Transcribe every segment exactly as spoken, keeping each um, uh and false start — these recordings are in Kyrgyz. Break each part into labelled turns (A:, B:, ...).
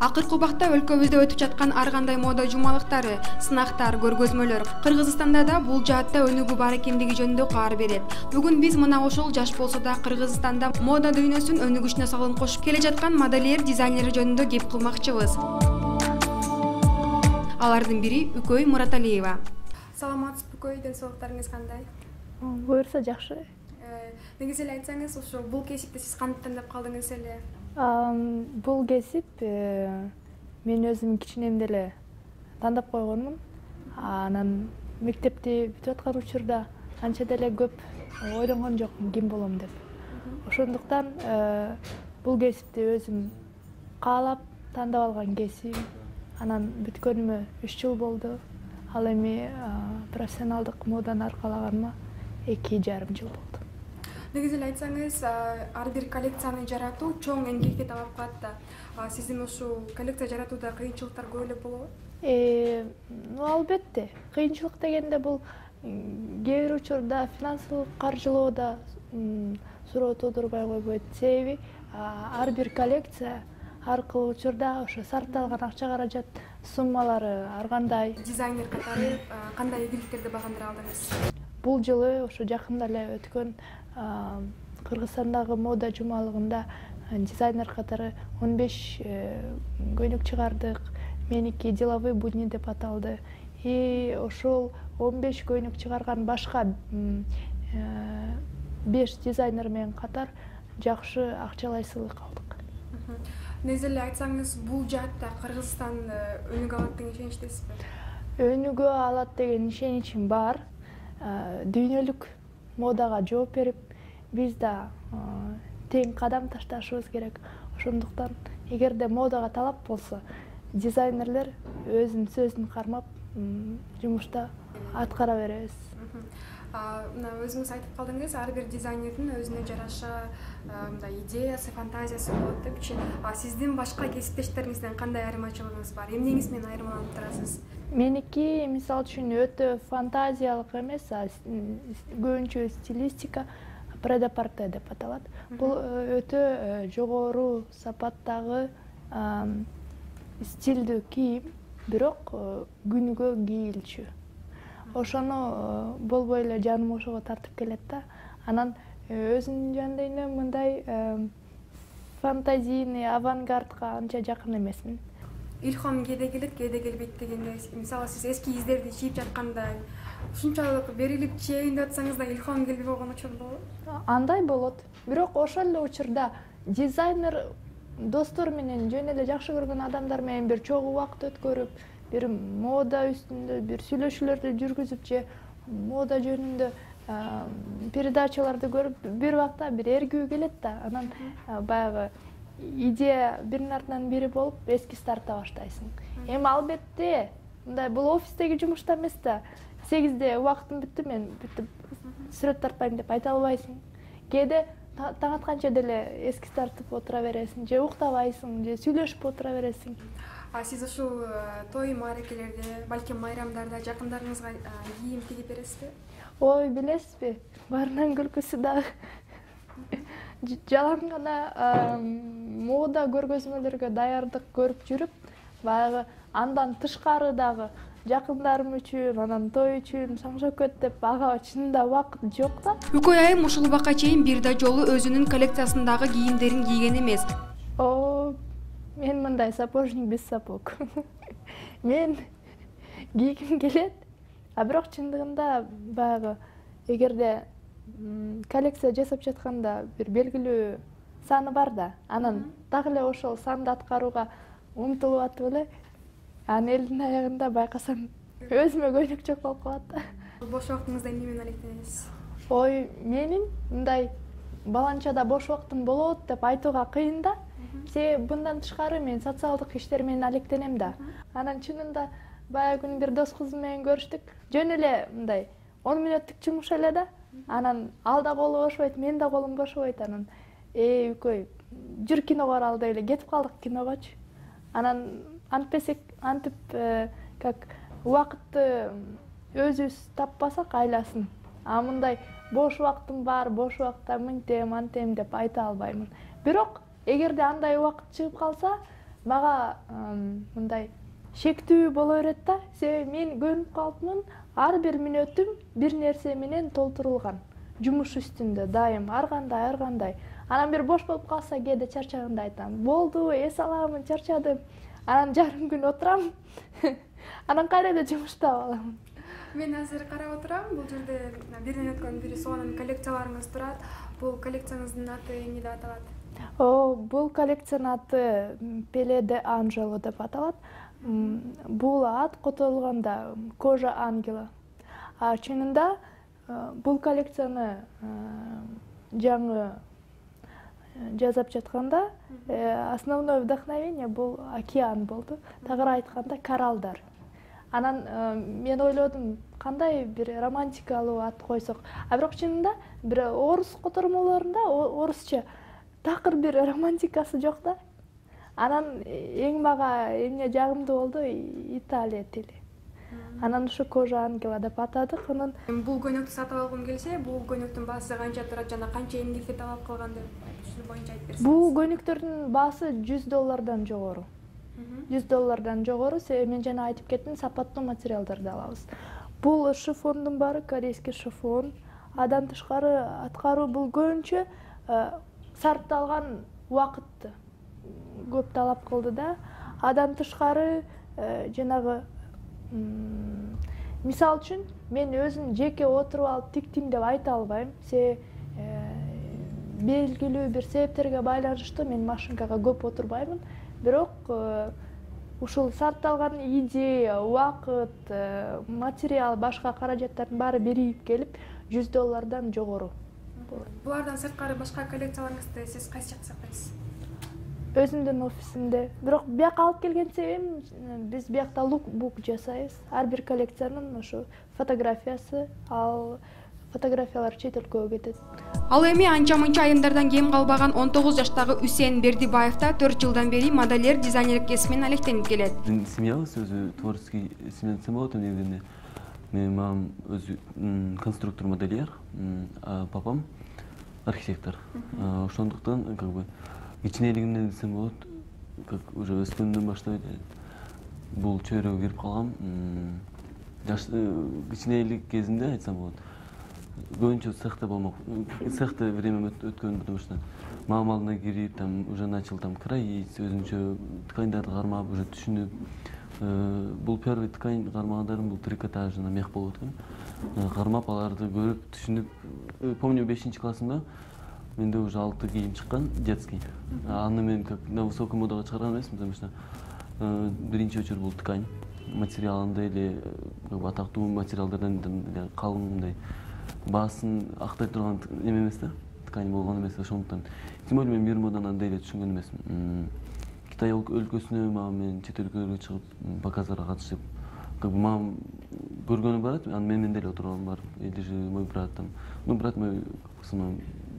A: Акыркы убакта өлкөбүздө өтүп жаткан ар кандай мода жумалыктары, сынактар, көргөзмөлөр Кыргызстанда да бул жаатта өнүгүү бар экендиги жөнүндө кабар берет. Бүгүн биз мына ошол жаш болсо да Кыргызстанда мода дүйнөсүнүн өнүгүшүнө салым кошуп келе жаткан модельер, дизайнер жөнүндө кеп кылмакчыбыз. Алардын бири Үкөй Мураталиева. Саламатсызбы Үкөй, ден соолуктарыңыз кандай?
B: Буюрса жакшы.
A: Негизи эле айтсаңыз, ошо бул кесипти сиз кантип тандап калдыңыз эле?
B: Бул кесип мен өзүм кичинемде эле тандап койгонмун. Анан мектепти бүтүп аткан учурда анча деле көп ойлонгон жокмун ким болом деп. Ошондуктан бул кесипти өзүм каалап тандап алган кесибим. Анан бүткөнүмө үч жыл болду. Ал эми профессионалдык моданы аркалаганыма эки жарым жыл болду.
A: Негизи эле айтсаңыз, ар бир коллекцияны жаратуу чоң эмгекти талап кылат да. Сиздин ушул коллекция жаратууда кыйынчылыктар көп эле болобу?
B: Ну, албетте. Кыйынчылык дегенде бул кээ бир учурда финансылык каржылоодо суроо туудурбай койбойт. Себеби ар бир коллекция ар кыл учурда ошо сарпталган акча каражат суммалары ар кандай.
A: Дизайнер катары кандай ийгиликтерди багындыра алдыңыз?
B: Бул жылы ошо жакында эле өткөн Кыргызстандагы мода жумалыгында дизайнер катары он беш көйнөк чыгардык. Меники деловые будни деп аталды. И ошол он беш көйнөк чыгарган башка беш дизайнер менен катар жакшы акчалай сыйлык алдык.
A: Негизи эле айтсаңыз, бул жаатта Кыргызстан өнүгө алат деген ишеничтесизби?
B: Өнүгө алат деген ишеничим бар. Дүйнөлүк модага жооп берип, биз да тең кадам ташташыбыз керек. Ошондуктан эгерде модага талап болсо, дизайнерлер өзүнүн сөзүн кармап жумушта аткара беребиз.
A: Мына өзүңүз айтып калдыңыз, ар бир дизайнердин өзүнө жараша мындай идеясы, фантазиясы болот деп. Сиздин башка кесиптештериңизден кандай айырмачылыгыңыз бар? Эмнеңиз менен айырмаланып турасыз?
B: Меники, мисалы үчүн, өтө фантазиялык эмес, көбүнчө стилистика, предапорте деп аталат. Бул өтө жогору сапаттагы стилдүү кийим, бирок күнгө кийилчү. Ошону болбой эле жаным ошого тартып келет да. Анан өзүнүн жандайына мындай фантазийный, авангардка анча жакын эмесмин.
A: Илхам кээде келет, кээде келбейт дегенде, мисалы сиз эски издерди чийип жатканда ушунчалык берилип чейин деп атсаңыз да илхам келбей койгон учур болобу?
B: Андай болот. Бирок ошол эле учурда дизайнер достор менен, жөн эле жакшы көргөн адамдар менен бир чогуу убакыт өткөрүп, бир мода үстүндө бир сүйлөшүүлөрдү жүргүзүп же мода жөнүндө передачаларды көрүп, бир убакта бир эргүү келет да. Анан баягы идея биринин артынан бири болуп, эскиз тарта баштайсың. Эми албетте, мындай бул офистеги жумушта эмес да. сегизде убакытым бүттү, мен бүтүп сүрөт тартпайм деп айта албайсың. Кээде таң атканча деле эскиз тартып отура бересиң, же уктабайсың, же сүйлөшүп отура бересиң.
A: Сиз ушул той мааракелерде, балким майрамдарда жакындарыңызга кийим тигип бересизби?
B: Ой, билесизби? Баарынан күлкүсү дагы. Жалаң гана мода көргөзмөлөргө даярдык көрүп жүрүп, баягы андан тышкары дагы жакындарым үчүн, анан той үчүн, саңжөкөт деп ага чынында убакыт жок да.
A: Үкөй айым ушул убакка чейин бир да жолу өзүнүн коллекциясындагы кийимдерин кийген эмес.
B: О, мен мындай сапожник без сапог. Мен кийгим келет, а бирок чындыгында баягы эгерде коллекция жасап жатканда бир белгилүү саны бар да, анан дагы эле ошол санды аткарууга умтулуп атып эле, анан элдин аягында байкасаң өзүмө көйнөк жок болуп калат да.
A: Бош убактыңызда эмне менен алектенесиз?
B: Ой, менин мындай баланчада бош убактым болот деп айтууга кыйын да. Себеби мындан тышкары мен социалдык иштер менен алектенем да. Анан чынында баягы күнү бир дос кызым менен көрүштүк. Жөн эле мындай он мүнөттүк жумуш эле да. Анан ал да колу бошобойт, мен да колум бошобойт. Анан эй Үкөй, жүр киного баралы деп эле кетип калдык киногочу. Анан антпесек, антип как убакытты өзүбүз таппасак айласын. А мындай бош убактым бар, бош убакта мынтем, антем деп айта албаймын. Бирок эгерде андай убакыт чыгып калса, мага мындай шектүү боло берет да. Себеби мен көнүп калыпмын, ар бир мүнөтүм бир нерсе менен толтурулган. Жумуш үстүндө дайым ар кандай, ар кандай. Анан бир бош болуп калса, кээде чарчаганда айтам: "Болду, эс аламын, чарчадым." Анан жарым күн отурам. Анан кайра эле жумуштап алам.
A: Мен азыр карап отурам, бул жерде биринен өткөн бири сонун коллекцияларыңыз турат. Бул коллекцияңыздын аты эмне деп аталат?
B: О, бул коллекциянын аты Пеле де Анжело деп аталат. Бул ат которулганда кожа ангела. А чынында бул коллекцияны жаңы жазап жатканда основное вдохновение бул океан болду. Тагыраак айтканда коралдар. Анан мен ойлодум, кандай бир романтикалуу ат койсок. А бирок чынында бир орус котормолорунда орусча такыр бир романтикасы жок да. Анан эң мага эмне жагымдуу болду, Италия тили. Анан ушу кожа ангела деп атадык. Анан
A: бул көнөктү сатып алгым келсе, бул көнөктүн баасы канча турат жана канча эмгекке талап кылган деп ушул боюнча айтып берсеңиз.
B: Бул көнөктөрдүн баасы жүз доллардан жогору. жүз доллардан жогору, себеби мен жана айтып кеттим, сапаттуу материалдарды алабыз. Бул шифондун баары корейский шифон. Адан тышкары аткаруу бул көбүнчө сарпталган убакытты көп талап кылды да. Адан тышкары жанагы мисал үчүн мен өзүм жеке отуруп алып тиктим деп айта албайм. Себеби белгилүү бир себептерге байланыштуу мен машинкага көп отурбаймын. Бирок ушул сарпталган идея, убакыт, материал, башка каражаттардын баары бирип келип жүз доллардан жогору.
A: Булардан сырткары башка коллекцияларыңызды сиз кайсы жакта сактайсыз?
B: Өзүмдүн офисимде. Бирок бияка алып келген себебим, биз биякта лукбук жасайбыз. Ар бир коллекциянын ошо фотографиясы, ал фотографиялар чет өлкөгө кетет.
A: Ал эми анча-мынча айымдардан кем калбаган он тогуз жаштагы Үсен Бердибаев да төрт жылдан бери модельер, дизайнерлик кесибинен алектенип келет.
C: Семьябыз өзү творческий семья десем болот. Негизинде менин мамам өзү конструктор, модельер, а папам архитектор. Ошондуктан как бы кичинелигимден десем болот, как уже өскөндөн баштап бул чөйрөгө кирип калгам. Жаш кичинелик кезинде айтсам болот. Көбүнчө цехта болмок, цехта время өткөн, потому что мамам алдына кирип, там уже начал там кроить, өзүнчө тканьдарды кармап, уже түшүнүп, бул первый ткань кармагандарым бул трикотаж жана мех болуп өткөн. Кармап аларды көрүп, түшүнүп, помню бешинчи классымда менде уже алты кийим чыккан, детский. Аны мен как на высокую модага чыгарган эмесмин, потому что биринчи очур бул ткань, материал андай эле атактуу материалдардан калың мындай баасын актай турган эме эмес да, ткань болгон эмес. Ошондуктан тем более мен бир модадан андай эле түшүнгөн эмесмин. Кытай өлкөсүнө мамам менен чет өлкөлөргө чыгып показдарга катышып, как бы мамам көргөнү барат, анан мен менен деле отурган барып, или же мой брат там, ну брат мой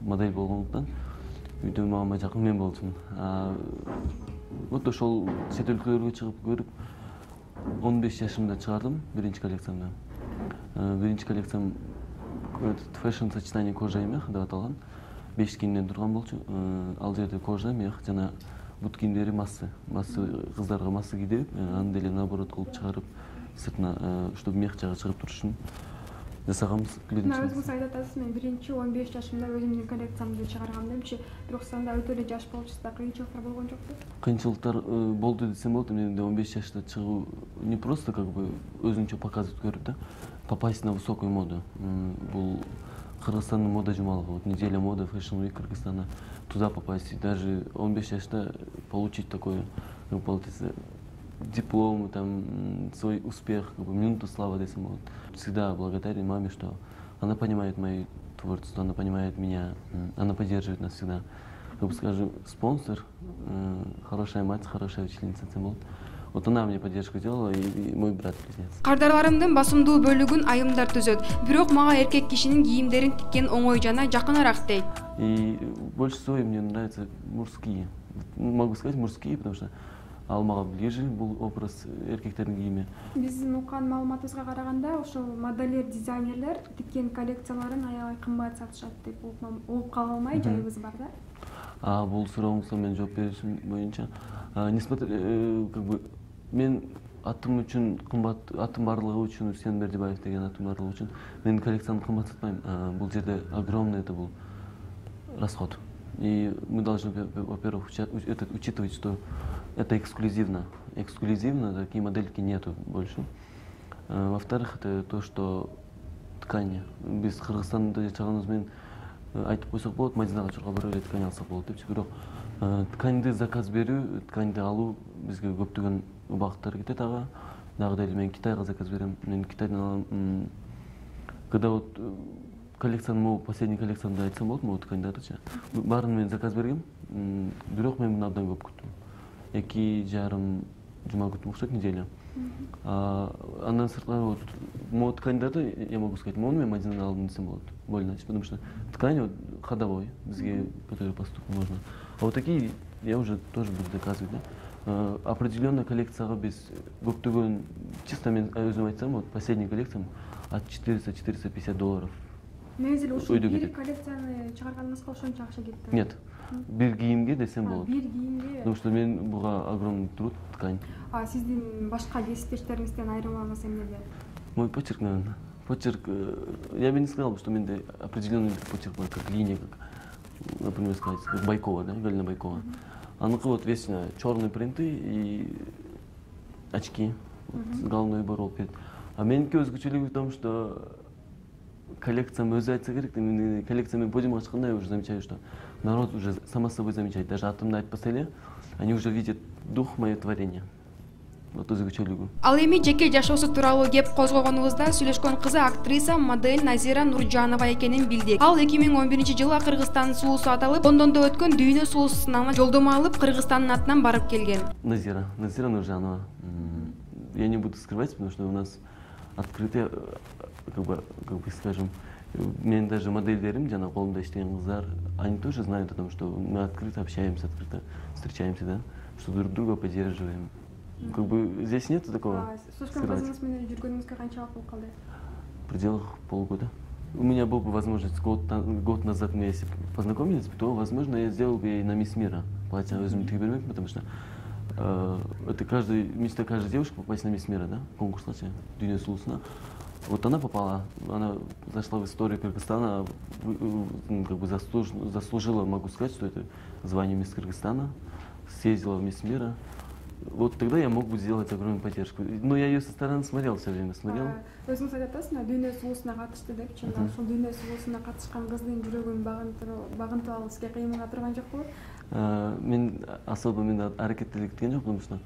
C: модель болгондуктан үйдө мамама жакын мен болчумун. Вот ошол чет өлкөлөргө чыгып көрүп он беш жашымда чыгардым биринчи коллекциямды. Биринчи коллекциям fashion сочетание кожа и мех деп аталган. беш кийимден турган болчу. Ал жерде кожа, мех жана бут кийимдери массы. Массы кыздарга массы кийдирип, аны деле наоборот кылып чыгарып, сыртына, чтобы мех жагы чыгып турушун жасаганбыз.
A: Өзүңүз айтып атасыз, мен биринчи он беш жашымда өзүмдүн коллекциямды чыгаргам демчи, бирок санда өтө эле жаш болчусуздар, кыйынчылыктар болгон жокпу?
C: Кыйынчылыктар болду десем болот. Менде он беш жашта чыгуу не просто как бы өзүнчө показ өткөрүп да, попасть на высокую моду. Бул Кыргызстандын мода жумалыгы, вот неделя моды, Fashion Week Кыргызстана, туда попасть. И даже он беш жашта получить такой, как получится, диплом, там, свой успех, как бы минуту славы десем болот. Всегда благодарен маме, что она понимает мои творчество, она понимает меня, она поддерживает нас всегда. Как бы скажем, спонсор, хорошая мать, хорошая учительница десем болот. Вот она мне поддержку делала, и мой брат-близнец.
A: Кардарларымдын басымдуу бөлүгүн айымдар түзөт. Бирок мага эркек кишинин кийимдерин тиккен оңой жана жакыныраак дейт.
C: И больше всего мне нравятся мужские. Могу сказать мужские, потому что ал мага ближе бул образ эркектердин кийими. Биздин
A: уккан маалыматыбызга караганда, ошол модельер, дизайнерлер тиккен коллекцияларын аябай кымбат сатышат деп угуп кала алмай жайыбыз бар да.
C: А бул сурооңузга мен жооп беришим боюнча, Несмотря, как бы, мен атым үчүн кымбат, атым барлыгы үчүн, Үсен Бердибаев деген атым барлыгы үчүн мен коллекцияны кымбатсатпайм. Бул жерде огромный это был расход. И мы должны, во-первых, учитывать, что это эксклюзивно. Эксклюзивно, такие модельки нету больше. Во-вторых, это то, что ткани. Без Кыргызстанда жашаганыбыз менен айтып койсок болот, Мадинага чурга барып эле ткань алсак болот депчи. Бирок тканьды заказ берүү, тканьды алуу бизге көптөгөн убакыттар кетет ага. Дагы деле мен Китайга заказ берем. Мен Китайдан алам. Когда вот коллекцияны, могу последний коллекциямды айтсам болот, могу тканьдардычы. Баарын мен заказ бергем. Бирок мен муну абдан көп күттүм. Эки жарым жума күттүм окшойт, неделя. Андан сырткары вот могу тканьдарды, я могу сказать, моуну мен Мадинадан алдым десем болот. Больно, потому что ткань вот ходовой, бизге который поступ можно. А вот такие я уже тоже буду доказывать, да. Определенная коллекцияга биз көптөгөн, чисто мен өзүм айтсам, вот последний коллекциям от четыреста — четыреста пятьдесят долларов.
A: Негизи ушул бир коллекцияны чыгарганыңызга ошончо акча кетти?
C: Нет. Бир кийимге десем болот.
A: Бир кийимге?
C: Потому что мен буга огромный труд, ткань.
A: А сиздин башка кесиптештериңизден айырмалыгыңыз эмнеде?
C: Мой почерк, наверное. Почерк, я бы не сказал, что у меня определенный почерк, как линия, как, например, сказать, как Байкова, да, Галина Байкова. Mm-hmm. Она вот вечно черные принты и очки, вот, mm-hmm. головной убор. А меники өзгөчөлүгү в том, что коллекциям өзү айтса керек, коллекциямен подиумга ачканда я уже замечаю, что народ уже сама собой замечает. Даже атомно айтпаса эле, они уже видят дух моего творения.
A: Ал эми жеке жашоосу тууралуу кеп козгогонубузда сүйлөшкөн кызы актриса, модель Назира Нуржанова экенин билдик. Ал эки миң он биринчи жылы Кыргызстан суусу аталып, Лондондо өткөн дүйнө суусуна жолдомо алып, Кыргызстандын атынан барып келген.
C: Назира, Назира Нуржанова. Я не буду скрывать, потому что у нас открытые, как бы, как бы скажем, мен даже модельдерим, жана колумда иштеген кыздар, они тоже знают о том, что мы открыто общаемся, открыто встречаемся, да, что друг друга поддерживаем. Как бы здесь нет такого.
A: Слушай, кызыңыз менен жүргөнүңүзгө канча убакыт болуп калды?
C: В пределах полгода. У меня была бы возможность год, год назад мы если познакомились, то, возможно, я сделал бы ей на Мисс Мира. Платье өзүм тигип бермекмин, потому что э, это каждый, мечта каждой девушки попасть на Мисс Мира, да, конкурс платья, дүйнө сулусуна. Вот она попала, она зашла в историю Кыргызстана, как бы заслуж, заслужила, могу сказать, что это звание Мисс Кыргызстана, съездила в Мисс Мира. Вот тогда я мог бы сделать огромную поддержку. Но я ее со стороны смотрел все время, смотрел.
A: Өзүңүз айтасызбы, дүйнө сулусуна катышты деп, чында ошол дүйнө сулусуна катышкан кыздын жүрөгүн багынтып алуу сизге кыйынга турган жокпу?
C: Мен особо мен аракеттелип кеткен жок, потому что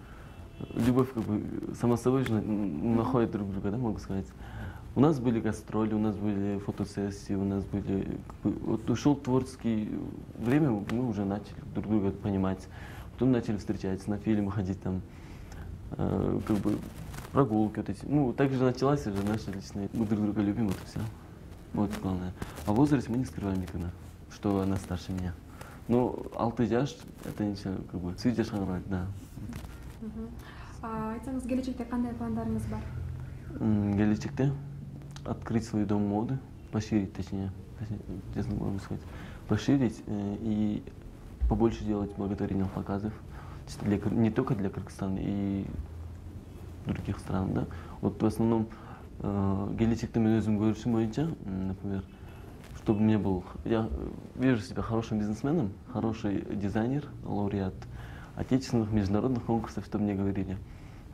C: любовь как бы сама собой же находит друг друга, да, могу сказать. У нас были гастроли, у нас были фотосессии, у нас были... Вот ушел творческий время, мы уже начали друг друга понимать. Потом начали встречаться, на фильмы ходить, там, э, как бы, прогулки вот эти. Ну, так же началась уже наша личная... Мы друг друга любим, вот и все. Вот главное. А в возрасте мы не скрываем никогда, что она старше меня. Но алты жаш, это ничего, как бы, сүйүт жашка карайт, да.
A: Айтсаңыз, келечекте кандай пландарыңыз бар?
C: Келечекте открыть свой дом моды, поширить, точнее, честно могу сказать, поширить и побольше делать благотворительных показов, для, не только для Кыргызстана и других стран, да. Вот в основном келечекте мен өзүм көрүшүм боюнча, например, чтобы мне был, я вижу себя хорошим бизнесменом, хороший дизайнер, лауреат отечественных, международных конкурсов, чтобы мне говорили.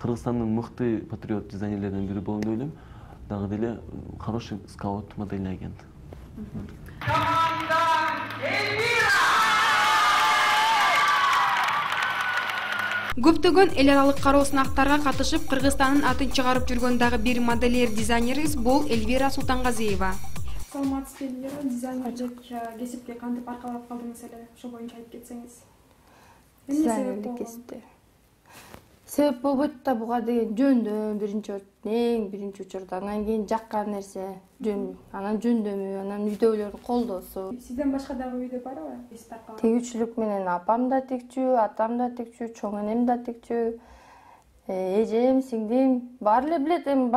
C: Кыргызстандын мыкты патриот дизайнерлерден бири болом деп ойлойм. Дагы деле хороший скаут, модельный агент.
A: Көптөгөн эл аралык кароо сынактарга катышып, Кыргызстандын атын чыгарып жүргөн дагы бир модельер дизайнерибиз бул Эльвира Султангазиева. Саламатсызбы, дизайнерлик кесипке кантип аркалап калдыңыз эле? Ошол боюнча айтып кетсеңиз.
B: Дизайнерлик кесипте себеп болбойт да, буга деген жөндөм биринчи эң биринчи учурда, анан кийин жаккан нерсе, жөн, анан жөндөмү, анан үйдөгүлөрдүн колдоосу.
A: Сизден башка дагы үйдө барбы?
B: Тигүүчүлүк менен апам да тикчү, атам да тикчү, чоң энем да тикчү, эжем, сиңдим баары эле билет. Эми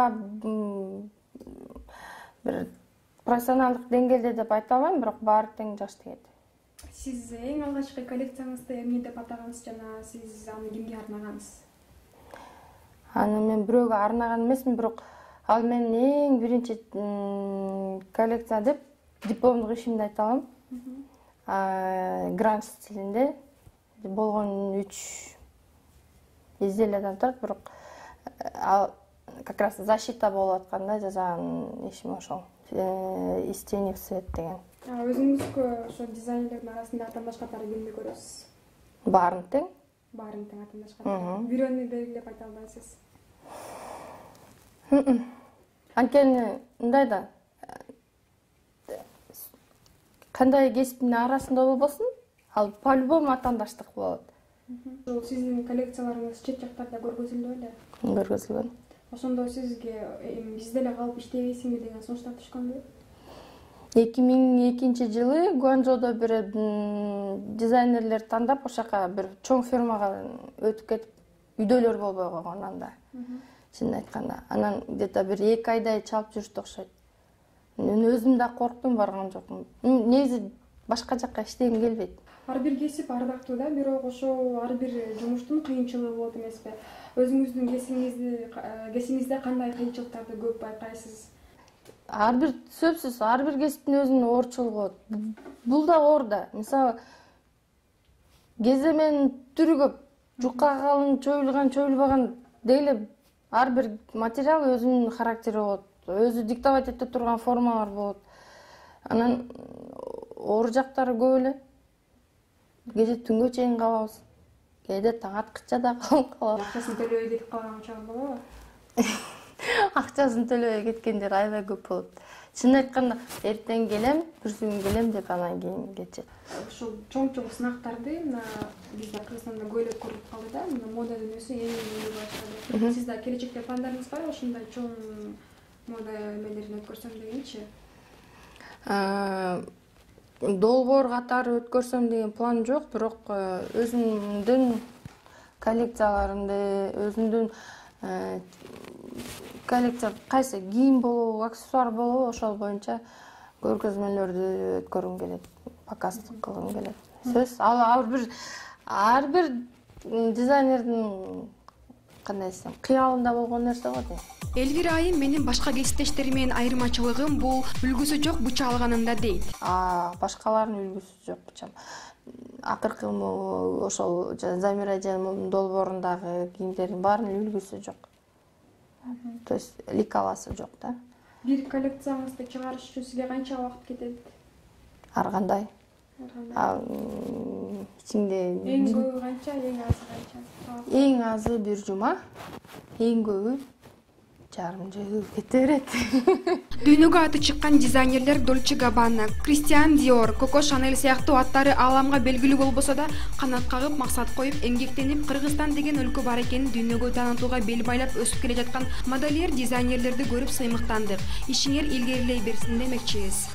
B: бир профессионалдык деңгээлде деп айта албайм, бирок баары тең жакшы тигет.
A: Сиз эң алгачкы коллекцияңызды эмне деп атагансыз жана сиз аны кимге арнагансыз?
D: Аны мен бирөөгө арнаган эмесмин, бирок ал менин эң биринчи коллекция деп дипломдук ишимди айта алам. Гранж стилинде болгон үч изделиядан турат, бирок ал как раз защита болуп атканда жасаган ишим ошол. Из тени в свет деген.
A: Өзүңүзгө ошо дизайнерлердин арасында атандаш катары кимди көрөсүз?
D: Баарын тең.
A: Баарын тең атандаш катары. Бирөөнү белгилеп айта албайсыз?
D: Анткени мындай да, кандай кесиптин арасында болбосун, ал по-любому атандаштык болот.
A: Ошол сиздин коллекцияларыңыз чет жактарда көргөзүлдү беле?
D: Көргөзүлгөн.
A: Ошондо сизге бизде эле калып иштебейсиңби деген сунуштар түшкөнбү?
D: эки миң экинчи жылы Гуанчжоудо бир дизайнерлер тандап, ошол жака бир чоң фирмага өтүп кетип, үйдөлөр болбой койгон анда. Чынын айтканда, анан где-то бир эки айдай чалып жүрүштү окшойт. Мен өзүм да корктум, барган жокмун. Негизи башка жакка иштегим келбейт.
A: Ар бир кесип ардактуу да, бирок ошол ар бир жумуштун кыйынчылыгы болот эмеспи? Өзүңүздүн кесиңизди кесиңизде кандай кыйынчылыктарды көп байкайсыз?
D: Ар бир сөзсүз, ар бир кесиптин өзүнүн оорчулугу болот. Бул да оор да. Мисалы, кеземенин түрү көп. Жука калың, чоюлган, чоюлбаган дейле ар бир материал өзүнүн характери болот. Өзү диктовать эте турган формалар болот. Анан оор жактары көп эле. Кече түнгө чейин калабыз. Кээде таң аткыча да калып калабыз.
A: Акчасын төлөбөй кетип калган учагы болобу?
D: Акчасын төлөбөй кеткендер аябай көп болот. Чынын айтканда, эртең келем, бүрсүн келем деп анан кийин кетет.
A: Ошол чоң-чоң сынактарды мына бизде Кыргызстанда көйлөп көрүп калды да, мына мода дүйнөсү эң баштады. Сизде келечекте пландарыңыз бар, ошондой чоң мода эмелерин өткөрсөм дегенчи?
D: Долбоор катары өткөрсөм деген план жок, бирок өзүмдүн коллекцияларымды, өзүмдүн коллекция кайсы кийим болобу, аксессуар болобу, ошол боюнча көргөзмөлөрдү өткөргүм келет, показдык кылгым келет. Сөз ал ар бир ар бир дизайнердин кандай десем, кыялында болгон нерсе го дейм.
A: Элвира айым менин башка кесиптештерим менен айырмачылыгым бул үлгүсү жок быча алганымда дейт.
D: Башкалардын үлгүсү жок бычам. Акыркы ошол Замира эженин долбоорундагы кийимдердин баарынын үлгүсү жок. То есть ликаласы жок да.
A: Бир коллекцияңызды чыгарыш үчүн сизге канча убакыт кетет?
D: Ар кандай. Ичинде
A: эң көбү канча, эң азы канча?
D: Эң азы бир жума, эң көбү жарым жыл кете берет.
A: Дүйнөгө аты чыккан дизайнерлер Dolce Gabbana, Christian Dior, Coco Chanel сыяктуу аттары ааламга белгилүү болбосо да, канат кагып, максат коюп, эмгектенип, Кыргызстан деген өлкө бар экенин дүйнөгө таанытууга бел байлап өсүп келе жаткан модельер, дизайнерлерди көрүп сыймыктандык. Ишиңер илгерилей берсин демекчибиз.